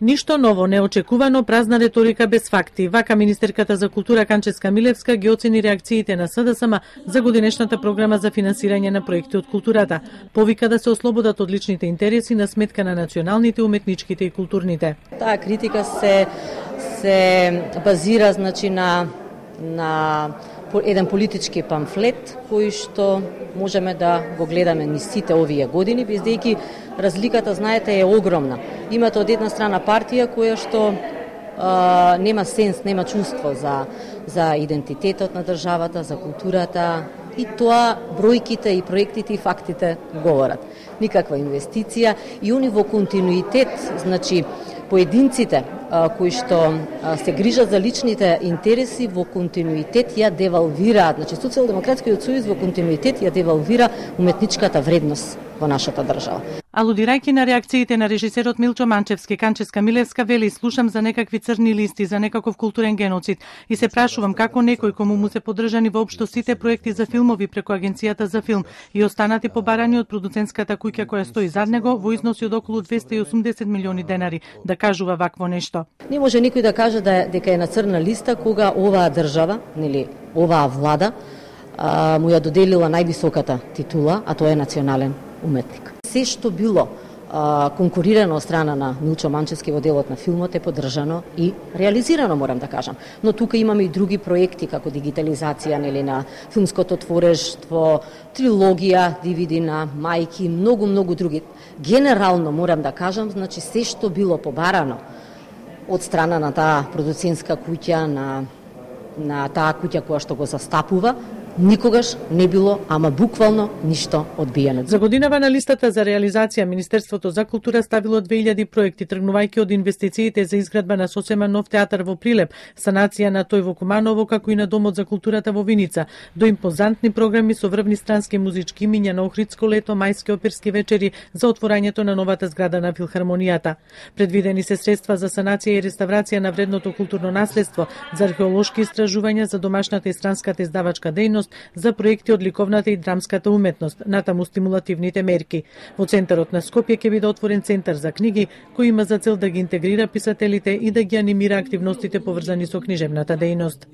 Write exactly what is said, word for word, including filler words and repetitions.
Ништо ново, неочекувано, празна реторика без факти. Вака министерката за култура Канческа Милевска ги оцени реакциите на СДСМ за годинешната програма за финансирање на проекти од културата. Повика да се ослободат од личните интереси на сметка на националните, уметничките и културните. Таа критика се се базира значи на на еден политички памфлет кој што можеме да го гледаме низ сите овие години, бездејќи разликата, знаете, е огромна. Имате од една страна партија која што а, нема сенс, нема чувство за, за идентитетот на државата, за културата, и тоа бројките и проектите и фактите говорат. Никаква инвестиција и они во континуитет, значи поединците а, кои што а, се грижат за личните интереси во континуитет ја девалвираат, значи Социјалдемократскиот сојуз во континуитет ја девалвира уметничката вредност во нашата држава. Алудирајќи на реакциите на режисерот Милчо Манчевски, Канческа Милевска вели: слушам за некакви црни листи, за некаков културен геноцид и се прашувам како некој кому му се поддржани воопшто сите проекти за филмови преку Агенцијата за филм и останати побарани од продуцентската куќа која стои зад него во износи од околу двесте и осумдесет милиони денари, да кажува вакво нешто. Не може никој да каже да дека е на црна листа кога оваа држава, нели оваа влада, а, му ја доделила највисоката титула, а тоа е национален уметник. Се што било а, конкурирано од страна на Милчо Манчевски во делот на филмот е поддржано и реализирано, морам да кажам. Но тука имаме и други проекти како дигитализација, нели, на филмското творештво, трилогија, ди ви ди на мајки, многу многу други. Генерално морам да кажам, значи се што било побарано од страна на таа продуцентска куќа, на на таа куќа која што го застапува, никогаш не било, ама буквално ништо одбиено. За годинава на листата за реализација Министерството за култура ставило две илјади проекти, тргнувајќи од инвестициите за изградба на сосема нов театар во Прилеп, санација на тој во Куманово, како и на Домот за културата во Виница, до импозантни програми со врвни странски музички имиња на Охридско лето, мајски оперски вечери за отворањето на новата зграда на Филхармонијата. Предвидени се средства за санација и реставрација на вредното културно наследство, за археолошки истражувања, за домашната и странската издавачка дејност, за проекти од ликовната и драмската уметност, натаму стимулативните мерки. Во центарот на Скопје ќе биде отворен центар за книги, кој има за цел да ги интегрира писателите и да ги анимира активностите поврзани со книжевната дејност.